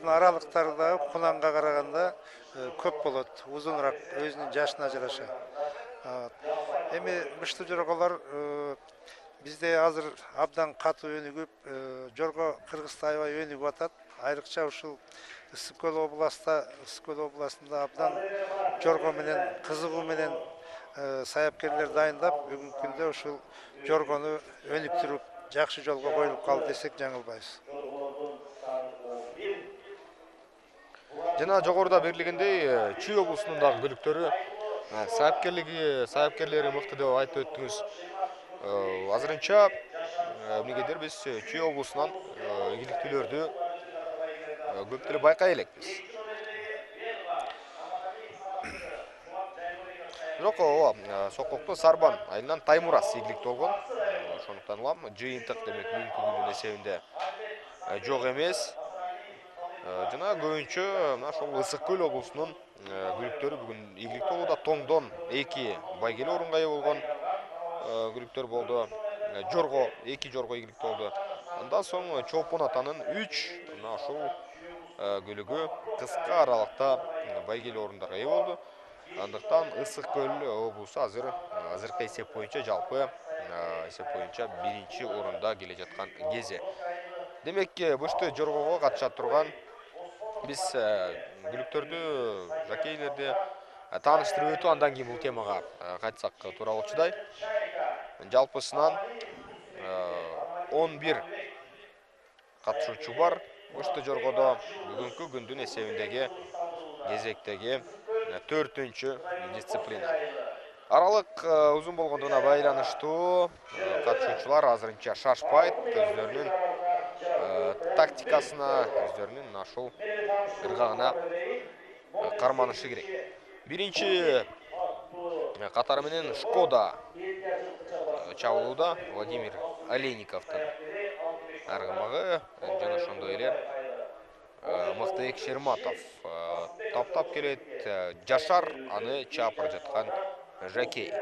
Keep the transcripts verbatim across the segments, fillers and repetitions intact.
жолдордун аралыктары да куланга караганда көп болот, узунураак өзүнүн жашына жараша. Эми мышты жорголор бизде азыр абдан катуу өнүгүп, жорго Кыргызда аябай өнүгүп атат. Айрыкча ушул Ысык көл областында, Ысык көл областында абдан жорго менен кызыгуу менен саяпкерлер дайындап, бүгүнкү күндө ушул жоргону өнүктүрүп, жакшы жолго коюлуп калды десек жаңылбайбыз. Жана жогоруда белгилегендей, Чүй облусунун дагы күлүктөрү саяпкерлиги, саяпкерлери мыкты деп айтып өттүңүз. Азырынча эмнегедир биз Чүй облусунан ийгиликтүүлөрдү көп деле байкай элекпиз. Бирок ооба, Сококто Сарбан айылынан Таймурас ийгиликтүү болгон. Ошондуктан улам жыйынтык демек бүгүнкү күндүн эсебинде жок эмес. Жана көбүнчө мына ошол Ысык көл облусунун күлүктөрү бүгүн ийгиликтүү болууда. Тоңдон эки байгелүү орунга ээ болгон күлүктөр болду. Жорго эки жорго ийгиликтүү болду. Андан соң Чолпон атанын үч мына ошол күлүгү кыска аралыкта байгелүү орундарга ээ болду. Андыктан Ысык көл облусу азыр азыркы эсеп боюнча жалпы эсеп боюнча биринчи орунда келе жаткан кези. Демек, бышты жоргого катыша турган биз күлүктөрдү, жакейлерди тааныштырып өтүп, андан кийин бул темага кайтсак туура болчудай. Жалпысынан он бир катышуучу бар бышты жоргодо. Бүгүнкү күндүн эсебиндеги кезектеги төртүнчү дисциплина. Аралык узун болгондугуна байланыштуу катышуучулар азырынча шашпайт, өздөрүнүн тактикасына, өздөрүнүн ашыл ыргагына карманышы керек. Биринчи катары менен Шкода чабуулууда Владимир Олейниковдун аргымагы жана ошондой эле Мыктыбек Шерматов таптап келет. Жашар аны чаап бара жаткан жакей.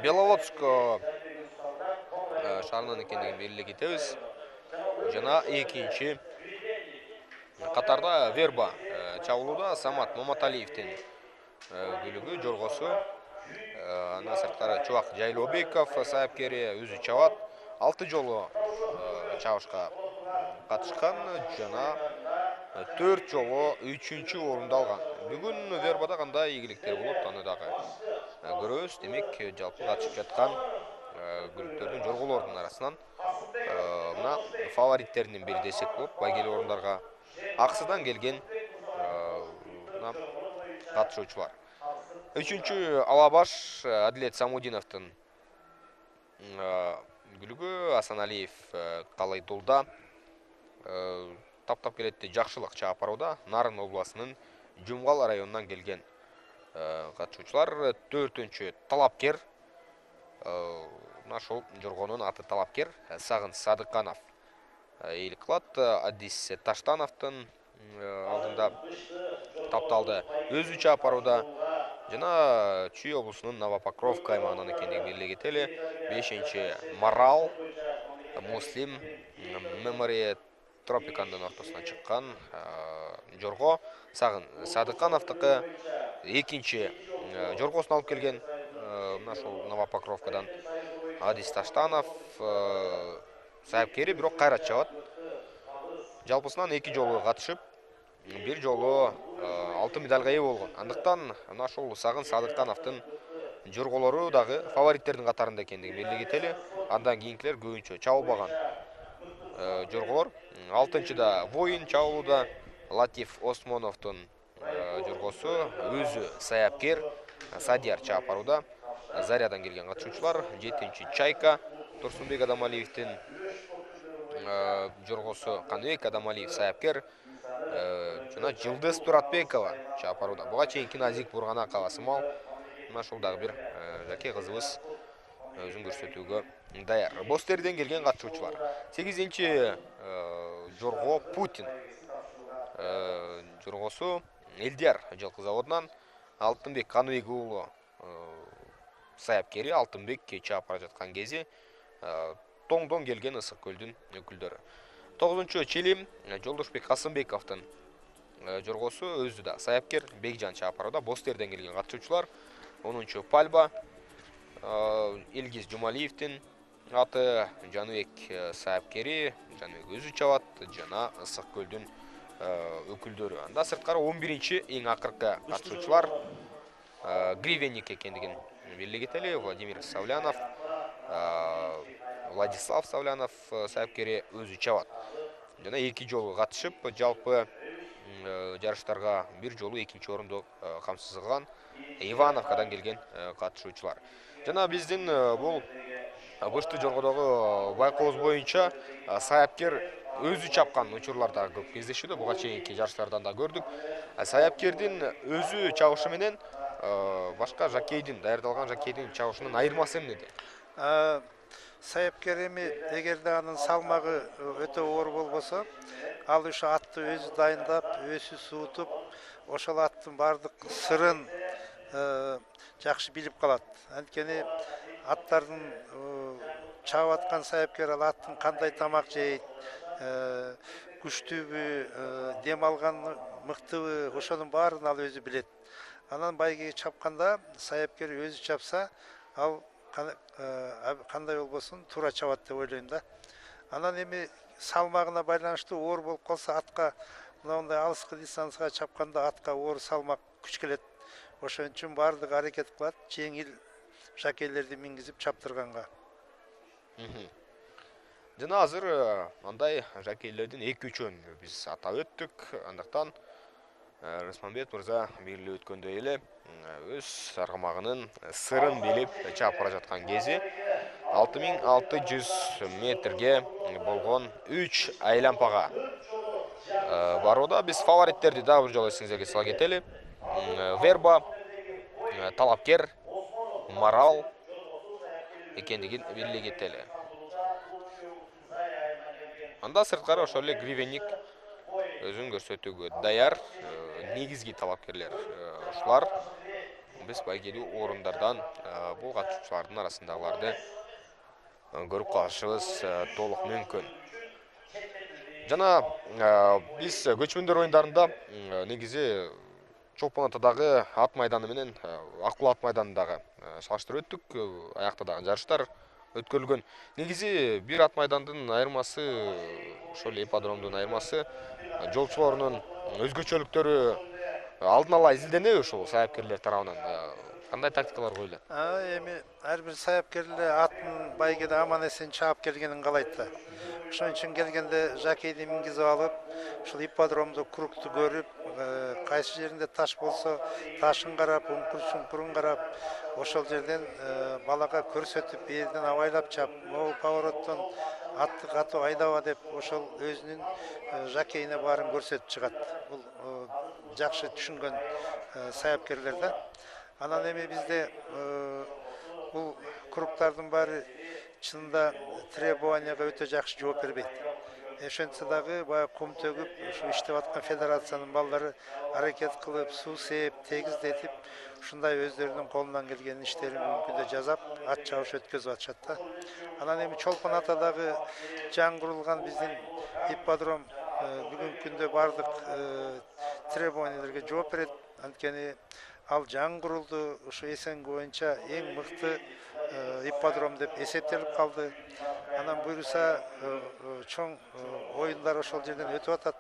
Беловодск шаарынын экендигин белгилей кетебиз. Жана экинчи катарда Верба чабуулууда Самат Маматалиевдин күлүгү жоргосу. Андан сырткары Чубак Жайлообеков саяпкери өзү чабат. Алты жолу чабышка катышкан жана төрт жолу үчүнчү орунду алган. Бүгүн Вербада кандай ийгиликтер болот, аны дагы көрөбүз. Демек, жалпы катышып жаткан күлүктөрдүн, жорголордун арасынан мына фавориттердин бири десек болот. Байгелүү орундарга аксыдан келген мына катышуучулар. Үчүнчү Алабаш Адилет Самудиновдун күлүгү. Асаналиев Калайдулда таптап келетти, жакшылык чаап барууда. Нарын областынын Жумгал районунан келген катышуучулар. Төртүнчү Талапкер. Мына ошол жоргонун аты Талапкер. Сагын Садыканов ээлик кылат. Адис Таштановдун алдында тапталды. Өзү чаап барууда. Жана Чүй облусунун Новопокровка аймагынан экендигин белгилей кетели. Бешинчи Марал Муслим Memory Тропикандын ортосуна чыккан жорго. Сагын Садыкановдукы. Экинчи жоргосун алып келген мына ошол Новопокровкадан Адис Таштанов саяпкери, бирок кайра чабат. Жалпысынан эки жолу катышып, бир жолу алтын медальга ээ болгон. Андыктан мына ошол Сагын Садыкановдун жорголору дагы фавориттердин катарында экендигин белгилей кетели. Андан кийинкилер көбүнчө чабылбаган жорголор. Алтынчыда Воин чабуулууда. Латиф Осмоновдун жоргосу, өзү саяпкер Садияр чаап барууда. Зарядан келген катышуучулар. Жетинчи Чайка Турсунбек Адамалиевдин жоргосу, Каныбек Адамалиев саяпкер жана Жылдыз Туратбекова чаап барууда. Буга чейинки Назик Бурганакова сымал мына ушул дагы бир жакей кызыбыз өзүн көрсөтүүгө даяр. Бостерден келген катышуучулар. сегизинчи жорго Путин жоргосу Элдияр жылкы заводунан Алтынбек Каныбек уулу саяпкери. Алтынбек чаап бара жаткан кези тоңдон келген Ысык көлдүн өкүлдөрү. тогузунчу Чилим Жолдошбек Касымбековдун жоргосу өзү да саяпкер Бекжан Чапарова, Бостерден келген катышуучулар. онунчу Пальба Илгиз Жумалиевдин аты, Жаныбек саяпкери, Жаныбек өзү чабат жана Ысык көлдүн өкүлдөрү. Анда сырткары он биринчи эң акыркы катышуучулар гривенник экендигин белгилей кетели. Владимир Савлянов, Владислав Савлянов саяпкери өзү чабат. Жана эки жолу катышып, жалпы жарыштарга бир жолу экинчи орунду камсыз кылган Ивановкадан келген катышуучулар. Жана биздин бул бышты жоргодогу байкообуз боюнча саяпкер өзү чапкан учурлар да көп кездешүүдө. Буга чейинки жарыштардан да көрдүк. Саяпкердин өзү чабышы менен башка жакейдин, даярдалган жакейдин чабышынын айырмасы эмнеде? Саяпкер эми эгерде анын салмагы өтө оор болбосо, ал ошо атты өзү дайындап, өзү суутуп, ошол аттын баардык сырын жакшы билип калат. Анткени аттардын чабып аткан саяпкер ал аттын кандай тамак жейт, күчтүүбү, дем алган мыктыбы, ошонун баарын ал өзү билет. Анан байгеге чапканда саяпкер өзү чапса, ал кандай болбосун туура чабат деп ойлойм да. Анан эми салмагына байланыштуу оор болуп калса, атка мындай алыскы дистанцияга чапканда атка оор салмак күч келет. Ошон үчүн баардыгы аракет кылат жеңил жакейлерди мингизип чаптырганга. Жана азыр андай жакейлердин эки үчөөн биз атап өттүк. Андыктан Рысманбет мырза белгилеп өткөндөй эле өз аргамагынын сырын билип чаап бара жаткан кези алты миң алты жүз метрге болгон үч айлампага барууда. Биз фавориттерди дагы бир жолу эсиңизерге сала кетели. Верба, Талапкер, Марал экендигин белгилей кетели. Анда сырткары ошол эле гривенник өзүн көрсөтүүгө даяр. Негизги талапкерлер ушулар. Биз байгелүү орундардан бул катышуучулардын арасындагыларды көрүп калышыбыз толук мүмкүн. Жана биз көчмөндөр оюндарында негизи Чолпон Атадагы ат майданы менен Аккул ат майданындагы салыштырып өттүк. Аякта дагы жарыштар өткөрүлгөн. Негизи бир ат майдандын айырмасы, ошол ипподромдун айырмасы, жолчулорунун өзгөчөлүктөрү алдын ала изилденеби ушул саяпкерлер тарабынан? Кандай тактикалар коюлат? Эми ар бир саяпкер атын байгеде аман эсен чаап келгенин каалайт да. Ошон үчүн келгенде жакейди мингизип алып, ушул ипподромду кругту көрүп, кайсы жеринде таш болсо ташын карап, уңкур-чуңкурун карап, ошол жерден балага көрсөтүп, берден абайлап чап, могул повороттон атты катуу айдаба деп, ошол өзүнүн жакейине баарын көрсөтүп чыгат. Бул жакшы түшүнгөн саяпкерлер да. Анан эми бизде бул кругтардын баары чынында требованияга өтө жакшы жооп бербейт. Ошентсе дагы баягы кум төгүп, ушу иштеп аткан федерациянын балдары аракет кылып, суу сээп, тегиздетип, ушундай өздөрүнүн колунан келген иштерин бүгүнкү күндө жасап, ат чабыш өткөзүп атышат да. Анан эми Чолпон Атадагы жаңырылган биздин ипподром бүгүнкү күндө бардык требованиялерге жооп берет. Анткени ал жаңы курулду, ушу эсенги боюнча эң мыкты ипподром деп эсептелип калды. Анан буюрса чоң оюндар ошол жерден өтүп атат.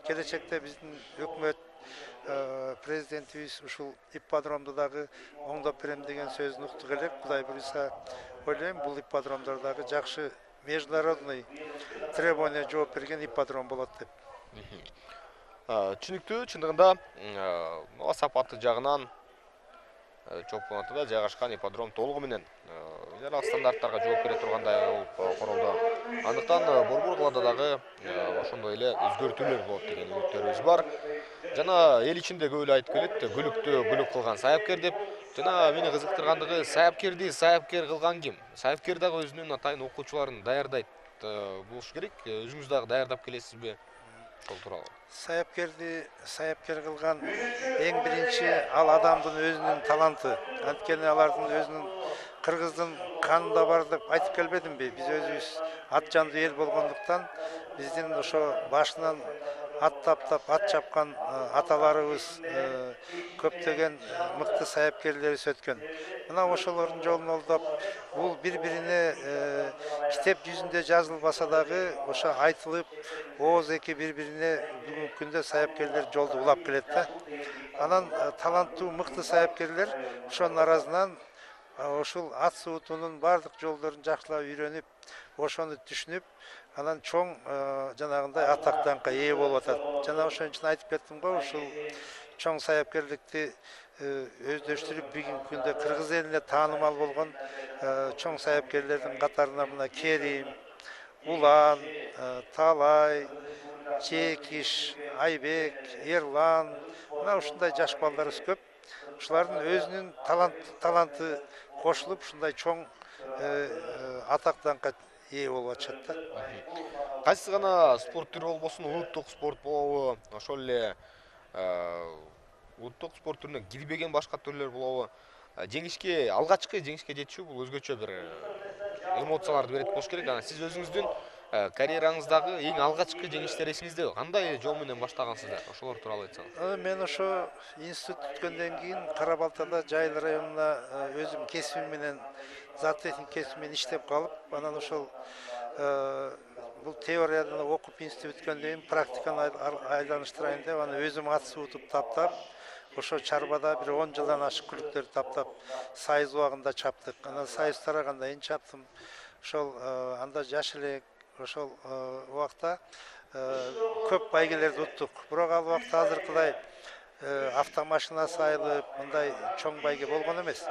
Келечекте биздин өкмөт президентибиз ушул ипподромду дагы оңдоп берем деген сөзүн уктук элек. Кудай буюрса ойлойм, бул ипподромдор дагы жакшы международный требования жооп берген ипподром болот деп. Түшүнүктүү, чындыгында сапаты жагынан Чолпон Атада жайгашкан ипподром толугу менен федералдык стандарттарга жооп бере тургандай болуп корулду. Андыктан Борбор калаада дагы ошондой эле өзгөртүүлөр болот деген үмүттөрүбүз бар. Жана эл ичинде көп эле айтып келет, гүлүктү гүлүк кылган саяпкер деп. Жана мени кызыктыргандыгы, саяпкерди саяпкер кылган ким? Саяпкер дагы өзүнүн атайын окуучуларын даярдайт болуш керек. Өзүңүз дагы даярдап келесизби? Ошол тууралуу. Саяпкерди саяпкер кылган эң биринчи ал адамдын өзүнүн таланты. Анткени алардын өзүнүн кыргыздын канында бар деп айтып келбедимби? Биз өзүбүз ат жандуу эл болгондуктан биздин ошо башынан ат таптап ат чапкан аталарыбыз, көптөгөн мыкты саяпкерлерибиз өткөн. Мына ошолордун жолун олдоп, бул бири-бирине китеп жүзүндө жазылбаса дагы ошо айтылып, ооз эки бири-бирине бүгүнкү күндө саяпкерлер жолду улап келет да. Анан таланттуу мыкты саяпкерлер ошонун арасынан ушул ат суутуунун бардык жолдорун жакшылап үйрөнүп, ошону түшүнүп, анан чоң жанагындай атак даңкка ээ болуп атат. Жана ошон үчүн айтып кеттим го, ушул чоң саяпкерликти өздөштүрүп бүгүнкү күндө кыргыз элине таанымал болгон чоң саяпкерлердин катарына мына Керим, Улан, Талай, Чекиш, Айбек, Эрлан, мына ушундай жаш балдарыбыз көп. Ушулардын өзүнүн таланты кошулуп, ушундай чоң атак даңкка ээ болуп атышат да. Кайсы гана спорт түрү болбосун, улуттук спорт болобу, ошол эле улуттук спорт түрүнө кирбеген башка түрлөр болобу, жеңишке, алгачкы жеңишке жетишүү бул өзгөчө бир эмоцияларды берет болуш керек. Анан сиз өзүңүздүн карьераңыздагы эң алгачкы жеңиштер эсиңиздеби? Кандай жол менен баштагансыздар? Ошолор тууралуу айтсаңыз. Мен ошо институт бүткөндөн кийин Кара Балтада Жайыл районуна өзүм кесибим менен, зоотехник кесибим менен иштеп калып, анан ошол бул теориядан окуп институт бүткөндөн кийин практиканы айланыштырайын деп, аны өзүм ат суутуп таптап, ошо чарбада бир он жылдан ашык күлүктөрдү таптап, сайыз убагында чаптык. Анан сайыз тараганда эн чаптым. Ошол анда жаш элек, ошол убакта көп байгелерди уттук. Бирок ал убакта азыркыдай автомашина сайылып, мындай чоң байге болгон эмес.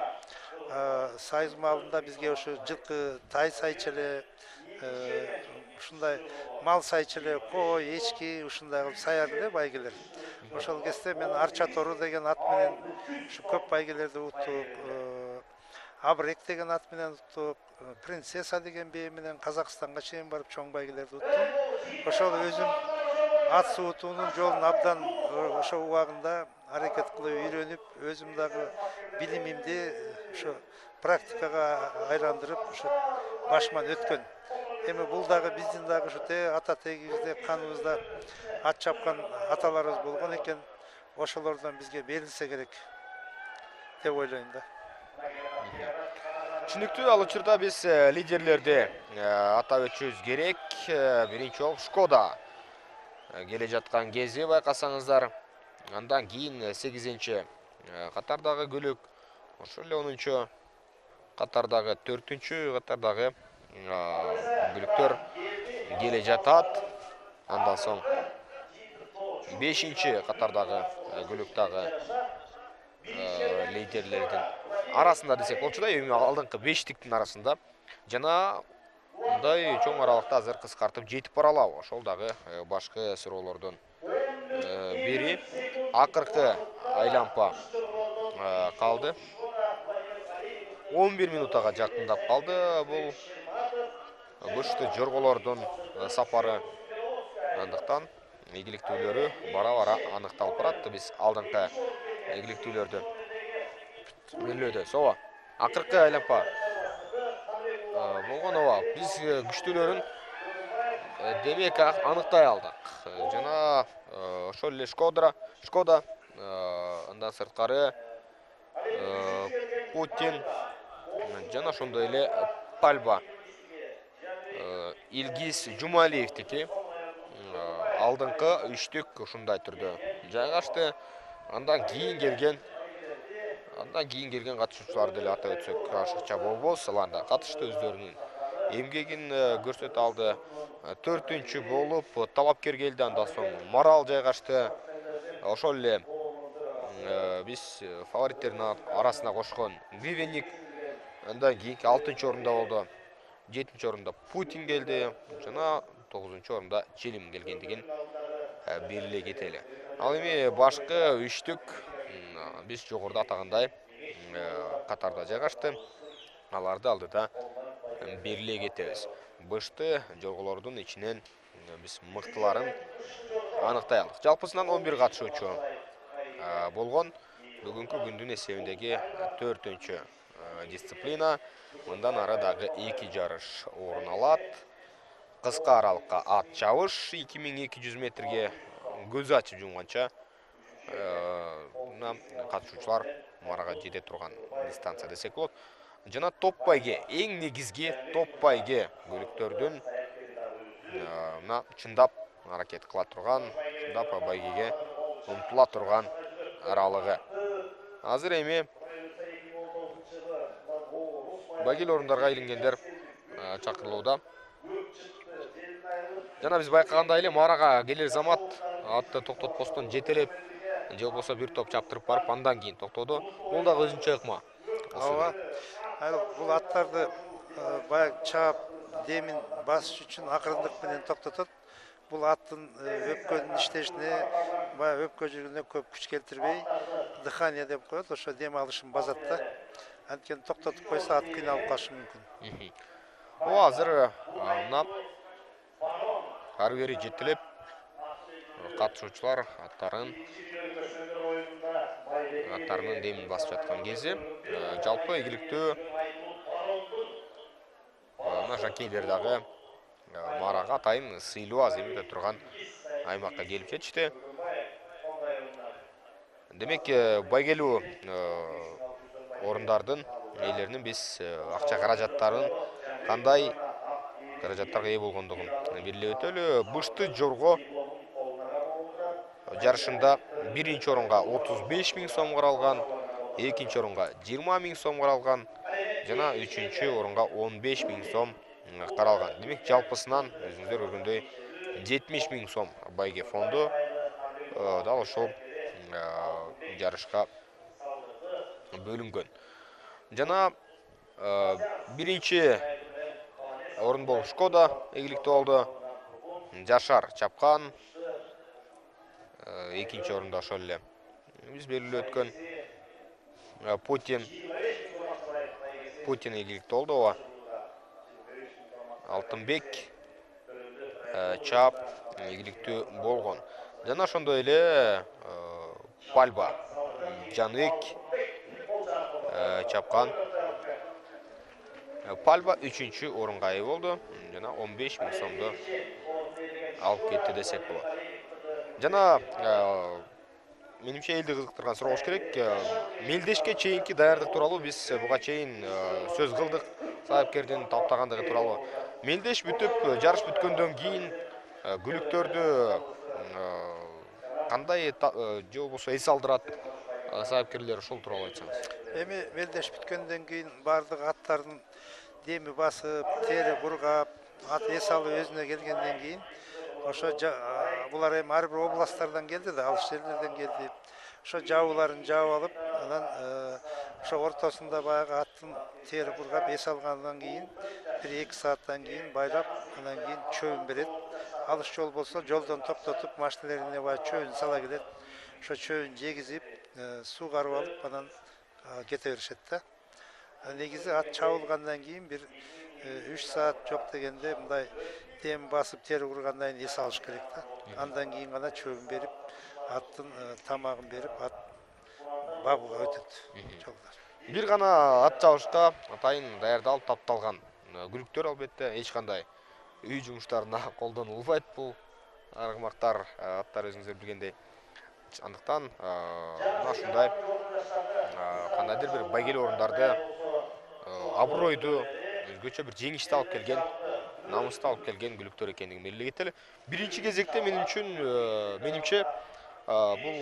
Сайыз маалында бизге ошо жылкы, тай сайчу эле, ушундай мал сайчу эле, кой, эчки ушундай кылып саярды эле байгелер. Ошол кезде мен Арча тору деген ат менен ушу көп байгелерди уттук. Абрек деген ат менен уттук, принцесса деген бээ менен Казакстанга чейин барып чоң байгелерди уттум. Ошол өзүм ат суутуунун жолун абдан ошо убагында аракет кылып үйрөнүп, өзүм дагы билимимди ошо практикага айландырып, ошо башыман өткөн. Эми бул дагы биздин дагы ушу ата тегибизде, каныбызда ат чапкан аталарыбыз болгон экен. Ошолордон бизге берилсе керек деп ойлойм да. Түшүнүктүү, ал учурда биз лидерлерди атап өтүшүбүз керек. Биринчи жолу Шкода келе жаткан кези байкасаңыздар. Андан кийин сегизинчи катардагы көлөк, ошол эле онунчу катардагы төртүнчү катардагы көлөктөр келе жатат. Андан соң бешинчи катардагы көлөк дагы лидерлердин арасында десек болчу да, эми алдыңкы бештиктин арасында. Жана мындай чоң аралыкта азыр кыскартып жетип баралабы? Ошол дагы башкы суроолордун бири. Акыркы айланпа калды. он бир минутага жакындап калды бул бышты жорголордун сапары. Андыктан ийгиликтүүлөрү бара-бара аныкталып барат. Биз алдыңкы ийгиликтүүлөрдү белгилөөдө. Соба, акыркы айланпа болгон оба. Биз күчтүүлөрүн демек аныктай алдык. Жана ошол эле Шкода, Шкода, андан сырткары Путин жана ошондой эле Пальба, Илгиз Жумалиевдики алдыңкы үчтүк ушундай түрдө жайгашты. Андан кийин келген Андан кийин келген катышуучуларды деле атап өтсөк ашыкча болбос. Алар да катышты, өздөрүнүн эмгегин көрсөтө алды. Төртүнчү болуп талапкер келди, андан соң Марал жайгашты. Ошол эле биз фавориттердин арасына кошкон Гривенник андан кийинки алтынчы орунда болду. жетинчи орунда Путин келди жана тогузунчу орунда Челим келгендигин белгилей кетели. Ал эми башкы үчтүк биз жогоруда атагандай катарда жайгашты. Аларды алдыда белгилей кетебиз. Бышты жорголордун ичинен биз мыктыларын аныктай алдык. Жалпысынан он бир катышуучу болгон. Бүгүнкү күндүн эсебиндеги төртүнчү дисциплина. Мындан ары дагы эки жарыш орун алат. кыска аралыкка ат чабыш эки миң эки жүз метрге көз ачып жумганча мына катышуучулар марага жете турган дистанция десек болот. Жана топ байге, эң негизги топ байге көлүктөрдүн мына чындап аракет кыла турган, чындап байгеге умтула турган аралыгы. Азыр эми байгелүү орундарга илингендер чакырылууда. Жана биз байкагандай эле марага келер замат атты токтотпостон жетелеп, же болбосо бир топ чаптырып барып, андан кийин токтоду. Бул дагы өзүнчө ыкма. Ооба. Бул аттарды баягы чаап демин басыш үчүн акырындык менен токтотот. Бул аттын өпкөнүн иштешине, баягы өпкө жүргүнө көп күч келтирбей, дыхание деп коет, ошо дем алышын базат да. Анткени токтотуп койсо ат кыйналып калышы мүмкүн. Ооба, азыр мына ары бери жетелеп катышуучулар аттарын аттарынын демин басып жаткан кези. Жалпы ийгиликтүү мына жакейлер дагы марага атайын сыйлуу аз эми өтө турган аймакка келип жетишти. Демек, байгелүү орундардын ээлеринин биз акча каражаттарын кандай каражаттарга ээ болгондугун белгилеп өтөлү. Бышты жорго жарышында биринчи орунга отуз беш миң сом каралган, экинчи орунга жыйырма миң сом каралган, жана үчүнчү орунга он беш миң сом каралган. Демек, жалпысынан өзүңүздөр көргөндөй жетимиш миң сом байге фонду дал ошол жарышка бөлүнгөн. Жана биринчи орун болуп Шкода ийгиликтүү болду. Жашар чапкан. Экинчи орунда ошол эле биз белгилеп өткөн Путин Путин ийгиликтүү болду. Ооба. Алтынбек чап ийгиликтүү болгон. Жана ошондой эле Пальба Жанык чапкан. Пальба үчүнчү орунга ээ болду. Жана он беш миң сомду алып кетти десек болот. Жана менимче элди кызыктырган суроо болуш керек. Мелдешке чейинки даярдык тууралуу биз буга чейин сөз кылдык. Саапкердин таптагандыгы тууралуу. Мелдеш бүтүп, жарыш бүткөндөн кийин күлүктөрдү кандай же болбосо эс алдырат саапкерлер, ушул тууралуу айтсаңыз. Эми мелдеш бүткөндөн кийин бардык аттардын деми басып, тери кургап, ат эс алып өзүнө келгенден кийин ошо булар эми ар бир областтардан келди да, алыс жерлерден келди. Ошо жабууларын жаап алып, анан ошо ортосунда баягы аттын тери кургап эс алгандан кийин бир эки сааттан кийин байлап, андан кийин чөбүн берет. Алыс жол болсо жолдон токтотуп, машиналарине баягы чөбүн сала келет. Ошо чөбүн жегизип, суу карып алып, анан кете беришет да. Негизи ат чабылгандан кийин бир үч саат жок дегенде мындай дем басып, тери кургандан кийин эс алыш керек да. Андан кийин гана чөбүн берип, аттын тамагын берип, ат багууга өтөт жолдор. Бир гана ат чабышка атайын даярдалып, тапталган күлүктөр албетте эч кандай үй жумуштарына колдонулбайт бул аргымактар, аттар өзүңүздөр билгендей. Андыктан мына ушундай кандайдыр бир байгелүү орундарды абройду, өзгөчө бир жеңишти алып келген, намысты алып келген күлүктөр экендигин белгилей кетели. Биринчи кезекте менин үчүн, менимче, бул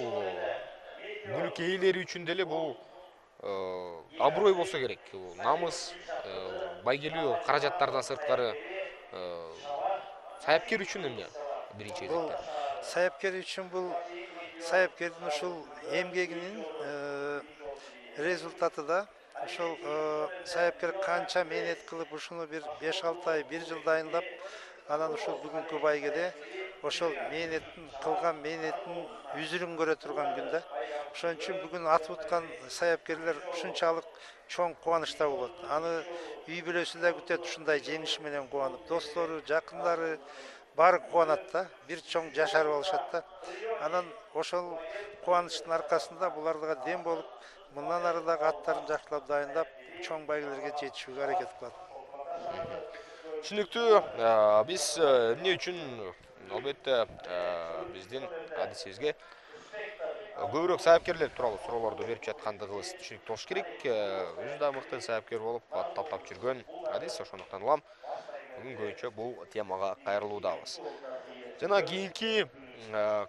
күлүк ээлери үчүн деле бул аброй болсо керек. Намыс, байгелүү каражаттардан сырткары саяпкер үчүн эмне биринчи кезекте? Саяпкер үчүн бул саяпкердин ушул эмгегинин результаты да. Ошол саяпкер канча мээнет кылып, ушуну бир беш алты ай, бир жыл дайындап, анан ушул бүгүнкү байгеде ошол мээнеттин кылган мээнеттин үзүрүн көрө турган күн да. Ошон үчүн бүгүн ат уткан саяпкерлер ушунчалык чоң кубанычта болот. Аны үй бүлөсү да күтөт, ушундай жеңиш менен кубанып, достору, жакындары баары кубанат да, бир чоң жашарып алышат да. Анан ошол кубанычтын аркасында буларга дем болуп, мындан ары дагы аттарын жакшылап дайындап, чоң байгелерге жетишүүгө аракет кылат. Түшүнүктүү. Биз эмне үчүн албетте биздин адисибизге көбүрөөк саяпкерлер тууралуу суроолорду берип жаткандыгыбыз түшүнүктүү болуш керек. Өзү да мыкты саяпкер болуп таптап жүргөн адис, ошондуктан улам бүгүн көбүнчө бул темага кайрылуудабыз. Жана кийинки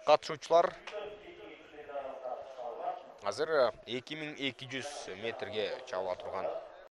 катышуучулар азыр эки миң эки жүз метрге чабыла турган